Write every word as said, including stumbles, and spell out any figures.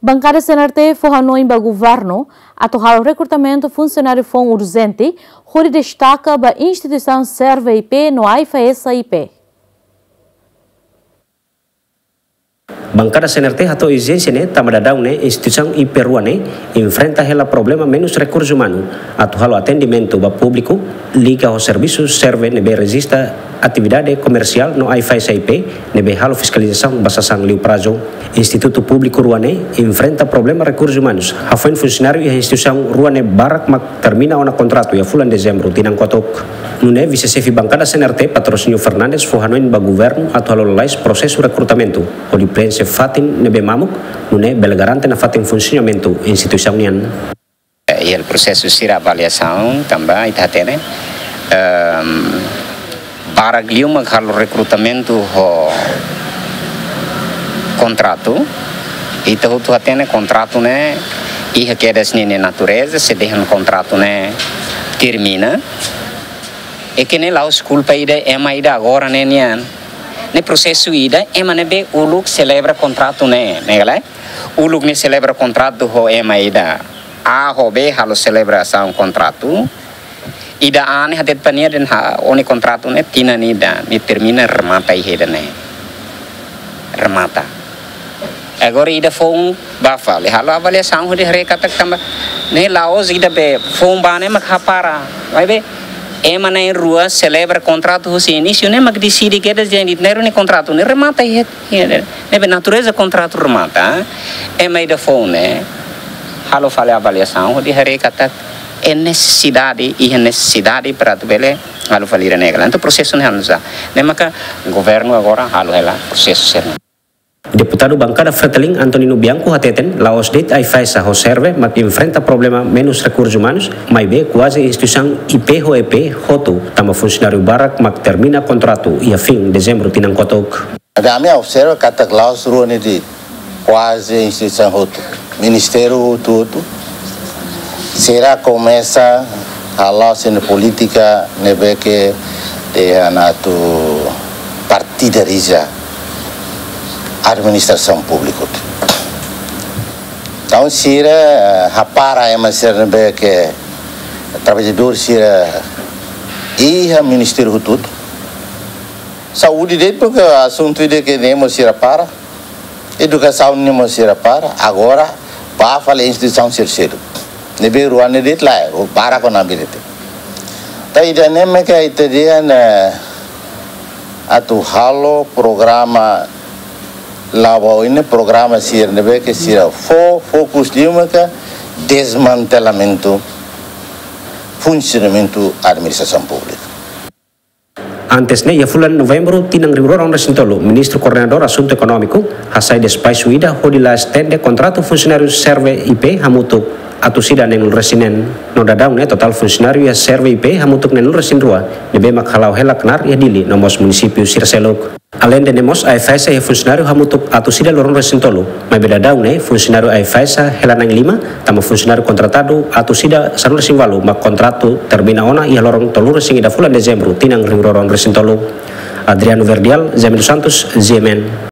Bankada C N R T fó hanoin ba governu atu halo rekrutamentu funsionáriu foun urjente, hodi destaka ba instituisaun Serve I P no AIFAESA I P. Bankada C N R T hato'o ezijénsia ne'e tanba daudaun ne'e instituisaun I P rua ne'e enfrenta hela problema menus rekursu umanu atu halo atendimentu ba públiku liga ho servisu Serve ne'ebé rejista atividade komersiál no AIFAESA I P ne'ebé halo fiskalizasaun ba sasán liu prazu. Institutu públiku rua ne'e enfrenta problema rekursu umanus, hafoin funsionáriu iha instituisaun rua ne'e barak mak termina ona kontratu iha fulan Dezembru tinan kotuk. Nune'e vise-xefe bankada C N R T, Patrocínio Fernandes, fó hanoin ba governu atu halo lalais prosesu rekrutamentu hodi preenxe fatin ne'ebé mamuk, nune'e bele garante nafatin funsionamentu instituisaun nian. Iha prosesu sira avaliasaun tanba ita hatene, ehm, barak liu mak halo rekrutamentu ho kontratu. Ita hotu hatene kontratu ne'e iha kedas ninia natureza, se dehan kontratu ne'e termina. I ne'e la'ós kulpa ida ema ida agora ne'e nian. Ne'e prosesu ida, ema ne'ebé uluk selebra kontratu ne'e, ne'e ka lae? Uluk ne'e selebra kontratu ho ema ida A ho B halo selebrasaun kontratu. Ida A ne'e hatete ba nia dehan, ó-nia kontratu ne'e tinan ida, ne'e termina, remata iha ida-ne'e. Remata. Agora ida foun bá fali halo avaliasaun hodi haree katak tanba ne'e la'ós ida be foun bá ne'e mak hapara. Maibé ema na'in-rua selebra kontratu husi inísiu ne'e mak deside kedas dehan ita na'in-rua nia kontratu ne'e remata iha, iha ne'e. Ne'ebé natureza kontratu remata, ema ida foun ne'e halo fali avaliasaun hodi haree katak iha nesesidade, iha nesesidade para atu bele halo fali ida-ne'e ka lae. Entaun prosesu ne'e halo nu'usá? Ne'e maka governu agora halo hela prosesu sira-ne'e. Deputadu bankada Fretilin, Antonino Bianco, hateten la'ós de'it AIFAESA ho Serve mak enfrenta problema menus rekursu umanus, maibé kuaze instituisaun I P ho E P hotu, tanba funsionáriu barak mak termina kontratu iha fin Dezembru tinan kotuk. Ami observa katak la'ós rua ne'e de'it, kuaze instituisaun hotu, ministériu hotu-hotu sira komesa hala'o sira-nia polítika ne'ebé ke dehan atu partidariza administrasaun públika. Entaun sira, eh, hapara ema sira ne'ebé ke traballadór sira iha ministériu hotu-hotu. Saúde de'it, porque asuntu ida ke ne'e mós sira para. Edukasaun ne'e mós sira para. Agora bá fali instituisaun sira seluk. Ne'ebé rua ne'e de'it lae, barak ona bilete. Entaun ida-ne'e mak ita dehan atu halo programa la'o ba oin ne'e, programa sira ne'ebé ke sira fó fokus liu maka desmantelamentu funsionamentu administrasaun públika. Antes ne'e, iha fulan Novembru tinan rihun rua ruanulu-resin-tolu, Ministru Koordenadór Asuntu Ekonómiku hasai despaxu ida hodi la estende kontratu funsionáriu Serve I P hamutuk atus ida neenulu-resin-neen. No daudaun ne'e totál funsionáriu iha Serve I P hamutuk neenulu-resin-rua, ne'ebé mak hala'o hela knaar iha Dili no mós munisípiu sira seluk. Aleinde ne'e mós, AIFAESA iha funsionáriu hamutuk atus ida loron-resin-tolu, maibé daudaun ne'e funsionáriu AIFAESA hela na'in-lima, tanba funsionáriu kontratadu atus ida sanulu-resin-ualu mak kontratu termina ona iha loron tolu-resin-ida fulan Dezembru tinan rihun rua ruanulu-resin-tolu. Adriano Verdial, Jaime dos Santos, G M N.